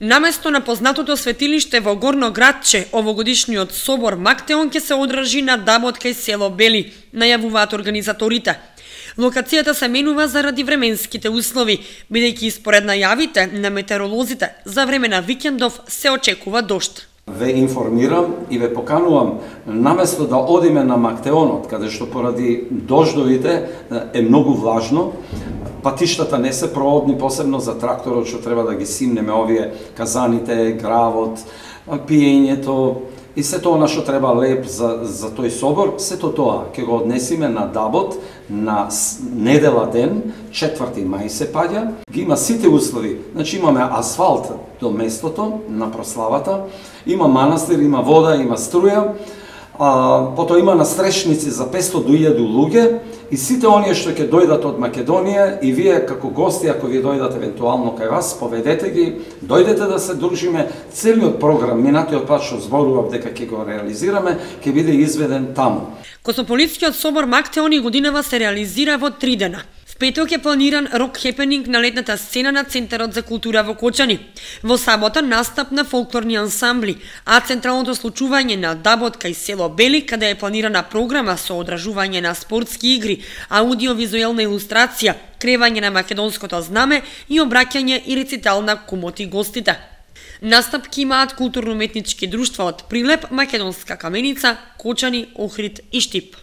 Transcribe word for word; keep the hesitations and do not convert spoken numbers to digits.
Наместо на познатото светилиште во Горно Градче, овогодишниот собор Мактеон ќе се одржи на Дабот кај село Бели, најавуваат организаторите. Локацијата се менува заради временските услови, бидејќи според најавите на метеоролозите за време на викендов се очекува дожд. Ве информирам и ве поканувам, наместо да одиме на Мактеонот, каде што поради дождовите е многу влажно, патиштата не се проводни, посебно за тракторот, што треба да ги симнеме овие казаните, гравот, пиењето и сето она што треба леп за, за тој собор, сето тоа ќе го однесиме на Дабот на недела ден, четврти мај се паѓа. Ги има сите услови, значи имаме асфалт до местото на прославата, има манастир, има вода, има струја, а, потоа има настрешници за петстотини до илјаду луѓе и сите оние што ќе дојдат од Македонија и вие како гости, ако ви дојдат евентуално кај вас, поведете ги, дојдете да се дружиме, целиот програм, минатиот пат што зборував дека ќе го реализираме, ќе биде изведен таму. Космополитскиот собор Мактеон и годинава се реализира во три дена. В петок е планиран рок хепенинг на летната сцена на Центарот за култура во Кочани. Во сабота настап на фолклорни ансамбли, а централното случување на Дабот кај село Бели, каде е планирана програма со одржување на спортски игри, аудиовизуелна илустрација, кревање на македонското знаме и обраќање и рецитал на кумоти гостите. Настапки имаат културно-уметнички друштва од Прилеп, Македонска каменица, Кочани, Охрид и Штип.